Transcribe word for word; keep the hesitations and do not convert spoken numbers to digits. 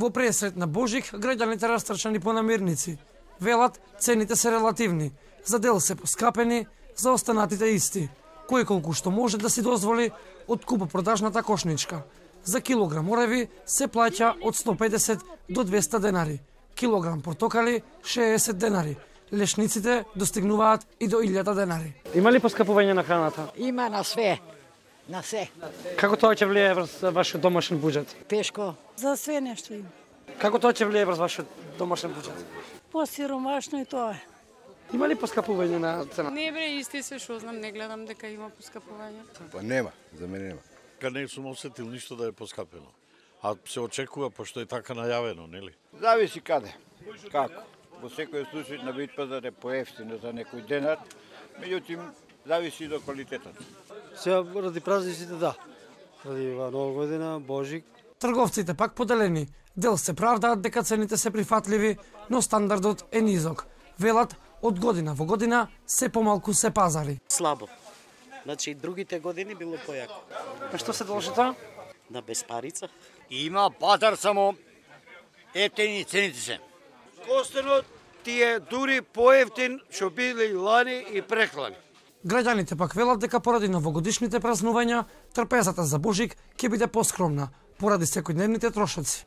Во пресрет на Божик, граѓаните растрчани по намирници. Велат, цените се релативни. За дел се поскапени, за останатите исти. Кој колку што може да си дозволи од купо-продажната кошничка. За килограм ореви се плаќа од сто педесет до двеста денари. Килограм портокали шеесет денари. Лешниците достигнуваат и до илјада денари. Има ли поскапување на храната? Има на све. На се. Како тоа ќе влијае врз вашиот домашен буџет? Тешко. За све нешто има. Како тоа ќе влијае врз вашиот домашен буџет? Посиромашно и тоа е. Има ли поскапување на цена? Не бре, исти се што знам, не гледам дека има поскапување. Па нема, за мене нема. Ка не сум осетил ништо да е поскапено. А се очекува пошто е така најавено, нели? Зависи каде. Како? Во секој случај на бит пазар е поевтино за некој денар, меѓутоа зависи до квалитетот. Сега ради празниците да. Ради Нова година, Божик. Трговците пак поделени. Дел се правдаат дека цените се прифатливи, но стандардот е низок. Велат, од година во година се помалку се пазари. Слабо. Значи другите години било појако. А што се должи тоа? На безпарица. Има пазар, само ефтини цените се. Костенот ти е дури поевтин што биле и лани и преклани. Граѓаните пак велат дека поради новогодишните празнувања, трпезата за Божик ќе биде поскромна, поради секојдневните трошоци.